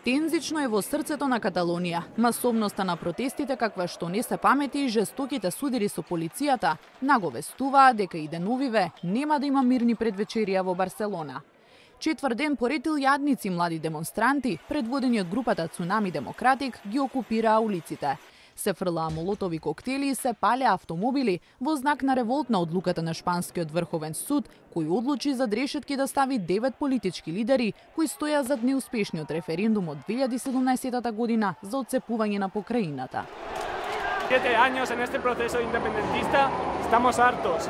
Тензично е во срцето на Каталонија. Масовноста на протестите, каква што не се памети и жестоките судири со полицијата, наговестуваат дека и деновиве нема да има мирни предвечерија во Барселона. Четврт ден поред илјадници млади демонстранти, предводени од групата Цунами Демократик, ги окупираа улиците. Се фрлаа молотови коктели и се палеа автомобили во знак на револт на одлуката на Шпанскиот врховен суд, кој одлучи зад решетки да стави 9 политички лидери кои стоја зад неуспешниот референдум од 2017 година за отцепување на покраината. 7 años en este proceso independentista estamos hartos.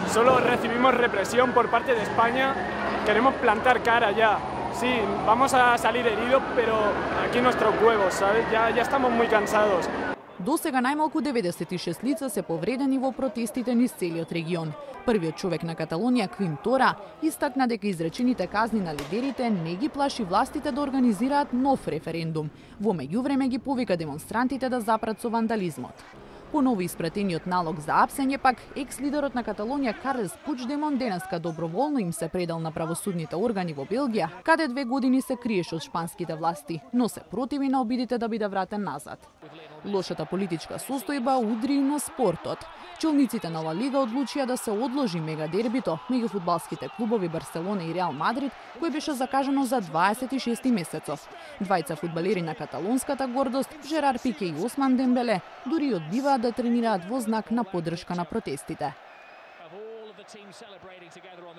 Solo recibimos represión por parte de España. Queremos plantar cara ya. Sí, vamos a salir heridos, pero aquí nuestros huevos, ¿sabes? Ya estamos muy cansados. До сега најмалку 96 лица се повредени во протестите низ целиот регион. Првиот човек на Каталонија, Квим Тора, истакна дека изречените казни на лидерите не ги плаши властите да организираат нов референдум. Во меѓувреме ги повика демонстрантите да запрат со вандализмот. По ново испратениот налог за апсење пак, екс-лидерот на Каталонија Карлес Пучдемон денеска доброволно им се предал на правосудните органи во Белгија, каде 2 години се криеше од шпанските власти, но се противи на обидите да биде вратен назад. Лошата политичка состојба удри и на спортот. Челниците на Ла Лига одлучија да се одложи мегадербито меѓу фудбалските клубови Барселона и Реал Мадрид, кој беше закажано за 26 месецов. Двајца фудбалери на каталонската гордост, Жерар Пике и Осман Дембеле, дури одбиваат да тренираат во знак на поддршка на протестите.